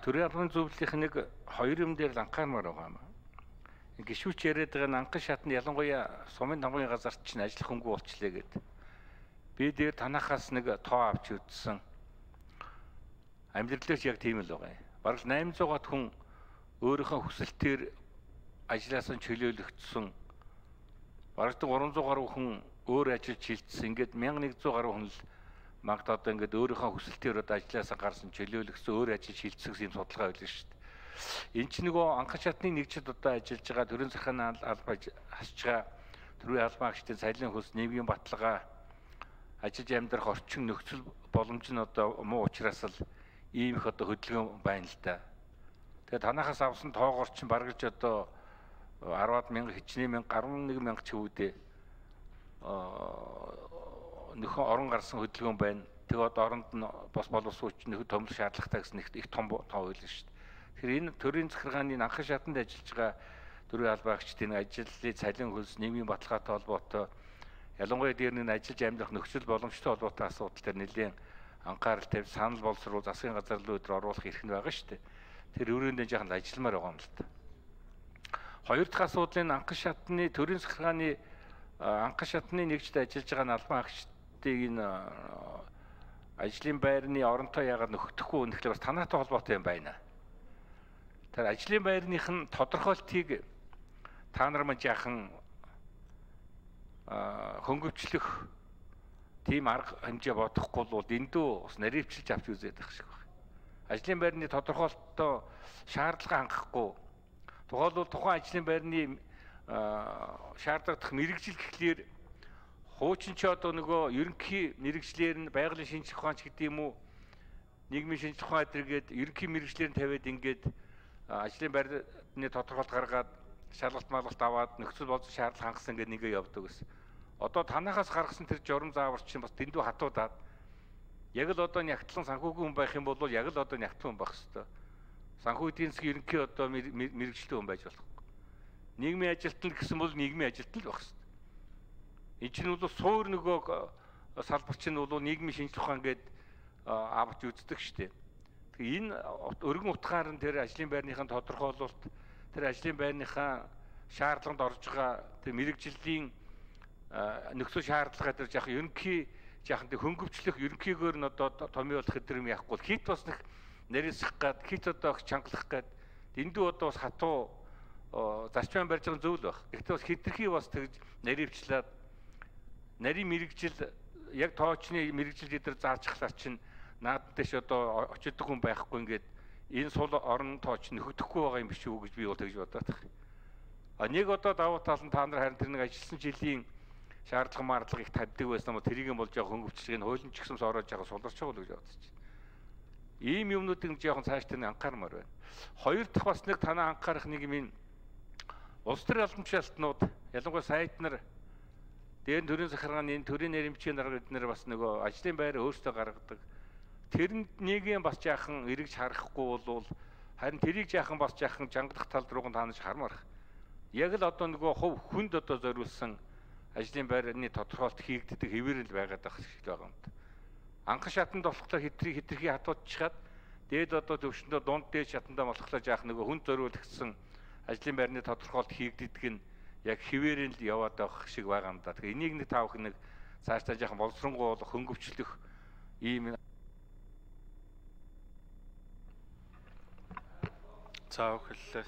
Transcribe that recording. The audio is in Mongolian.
төрийн албаны зөвлөлийн нэг хоёр юм дээр л анхаармаар байгаа юм. Гишүүч яриад байгаа нь анхан шатнд ялангуяа сумын тамгын газарт чинь ажиллах хөнгө болчлаа гэдэг. Би дээр танахаас нэг тоо авч үзсэн. Амьдралч яг тийм л байгаа юм. Бараг 800-аад хүн өөрийнхөө хүсэлтээр ажлаас нь чөлөөлөгдсөн. Бараг 300 гаруй хүн өөр ажилд шилжсэн. Ингээд 1100 гаруй хүн л магад одоо ингээд өөрийнхөө хүсэлтээр одоо ажлаасаа гарсан чөлөөлөгдсөн өөр ажил шилжсэн гэсэн юм судалгаа байлаа шүү дээ. Энд чинь нөгөө анхан шатны нэгжид одоо ажиллаж байгаа төрийн захиргааны албаа хасж байгаа төрийн албан агчдын цалин хөлс нийгмийн баталгаа ажиллаж амьдрах орчин нөхцөл боломж нь одоо муу учраас л ийм их одоо хөдөлгөөн байна л да. Тэгээд танахаас авсан тоогоор чинь бараг ч одоо 10-аад мянга хичнээн 11 мянга ч үүдээ нөхөн орон гарсан хөдөлгөөн байна. Тэгээд одоо оронд нь бос боловсруулч нөхөд томлох шаардлагатай гэсэн их том тоо байлаа шүү дээ. Тэгэхээр энэ төрийн захиргааны анхан шатанд ажиллаж байгаа төрийн албан агчдын ажлын цалин хөлс нийгмийн баталгаатай холбоотой ялангуяа дээр нь ажиллаж амьдрах нөхцөл боломжтой холбоотой асуудал дээр нэлээд анхаарал тавьж санал боловсруул засгийн газар руу өдөр оруулах эрх нь байгаа шүү дээ. Тэр өрөөндөө жаахан ажилламаар байгаа юм л та. Хоёр дахь асуудлын анхан шатны төрийн захиргааны анхан шатны нэгжид ажиллаж байгаа албан агчдыг энэ ажлын байрны оронтой яагаад нөхөхгүй үнэхээр бас танаатай холбоотой юм байна. Тэр ажлын байрных нь тодорхойлтыг та нар мань жаахан хөнгөвчлөх тийм арга хэмжээ бодохгүй бол эндөө бас наривчилж авч үзээд байх шиг байна. Ажлын байрны тодорхойлолтоо шаардлага хангахгүй. Тухайлбал тухайн ажлын байрны шаардлагадах мэрэгжил гэхлээр хуучин ч одоо нөгөө ерөнхий мэрэгчлэр нь байгалийн шинжлэх ухаанч гэдэг юм уу нийгмийн шинжлэх ухаан эдэргээд ерөнхий мэрэгчлэр нь тавиад ингээд ажлын байрны тодорхойлолт гаргаад шалгалт малгалт аваад нөхцөл боловсрол шаардлага хангасан гэдэг нэгэ явдаг гэсэн. Одоо танахаас гаргасан тэр журам заавар чинь бас дэндүү хатуудаад яг л одоо нягтлан санхүүгийн хүн байх юм бол яг л одоо нягтлан хүн байх хэвээр. Санхүү эдийн засгийн ерөнхий одоо мэрэгчлээ хүн байж болохгүй. Нийгмийн ажилтнал гэсэн бол нийгмийн ажилтнал байх хэвээр. Энэ чинь бол суур нөгөө салбар чинь бол нийгмийн шинжлэх ухаан гээд авч үздэг шүү дээ. Энэ өргөн утгаар нь тэр ажлын байрныхаа тодорхойлолт тэр ажлын байрныхаа шаардлаганд орж байгаа тэр мэрэгжлийн нөхцөл шаардлага дээр жаахан ерөнхий жаахан тэр хөнгөвчлөх ерөнхийгээр нь одоо томьёолох гэдэг юм яахгүй хит бас нэг нарийсах гад хит одоо чангалах гад эндүү одоо бас хатуу зарчмын барьж байгаа зөв л байх. Гэхдээ бас хитрхи бас тэгж наривчлаад нарийн мэрэгжил яг тоочны мэрэгжил дээр зааж ахлаар чинь наад дэш одоо очидог хүн байхгүй ингээд энэ сул орон тооч нөхөдөхгүй байгаа юм биш үү гэж би бол тэгж бодоод байна. А нэг одоо давуу тал нь та нар харин тэр нэг ажилласан жилийн шаардлага маарлага их тавьдаг байсан юм тэрийг юм бол жоохон хөнгөвчлөгийг хуулийн ч гэсэн ороож байгаа суларч байгаа л гэж бодож байна. Ийм юмнуудыг жоохон цааш тань анхаармаар байна. Хоёр дахь бас нэг танаа анхаарах нэг юм улс төрийн албан тушаалтнууд ялангуяа сайд нар дээр нь төрийн захиргааны төрийн нэрмжийн дарга эднэр бас нөгөө ажлын байр өөрсдөө гаргадаг. Тэр нэгийн бас жаахан эргэж харахгүй бол харин тэрийг жаахан бас жаахан жангалах тал руу таанаж хармарх. Яг л одоо нөгөө хувь хүнд одоо зориулсан ажлын байрны тодорхойлт хийгддэг хэвээр л байгаад байх шиг байгаа юм. Анхан шатанд болохоор хитрхи хатуудчихад дээд одоо төвшөндөө дунд дээд шатандаа болохоор жаахан нөгөө хүнд зориулагдсан ажлын байрны тодорхойлт хийгддэг нь яг хэвээр л яваад байх шиг байгаа юм да. Тэгэхээр энийг нэг таавах нэг цаашдаа жаахан боловсронгуй хөнгөвчлөх ийм За, хэллээ.